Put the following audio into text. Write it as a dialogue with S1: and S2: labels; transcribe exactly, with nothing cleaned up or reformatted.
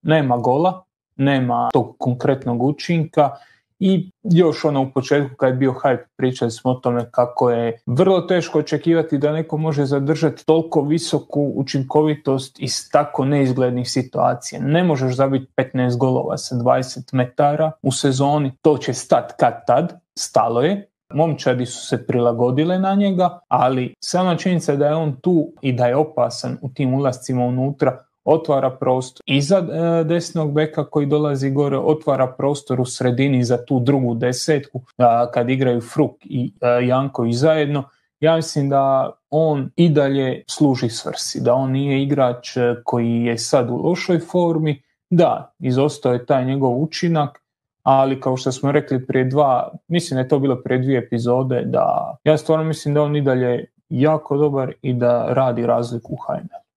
S1: nema gola, nema tog konkretnog učinka i još ono u početku kad je bio hype pričali smo o tome kako je vrlo teško očekivati da neko može zadržati toliko visoku učinkovitost iz tako neizglednih situacija. Ne možeš zabiti petnaest golova sa dvadeset metara u sezoni, to će stat kad tad, stalo je. Momčadi su se prilagodile na njega, ali sama činjenica da je on tu i da je opasan u tim ulascima unutra otvara prostor i za e, desnog beka koji dolazi gore, otvara prostor u sredini za tu drugu desetku a, kad igraju Fruk i a, Janković zajedno. Ja mislim da on i dalje služi svrsi, da on nije igrač koji je sad u lošoj formi, da, izostao je taj njegov učinak, ali kao što smo rekli prije dva, mislim da je to bilo prije dvije epizode, da ja stvarno mislim da on i dalje jako dobar i da radi razliku u H N L.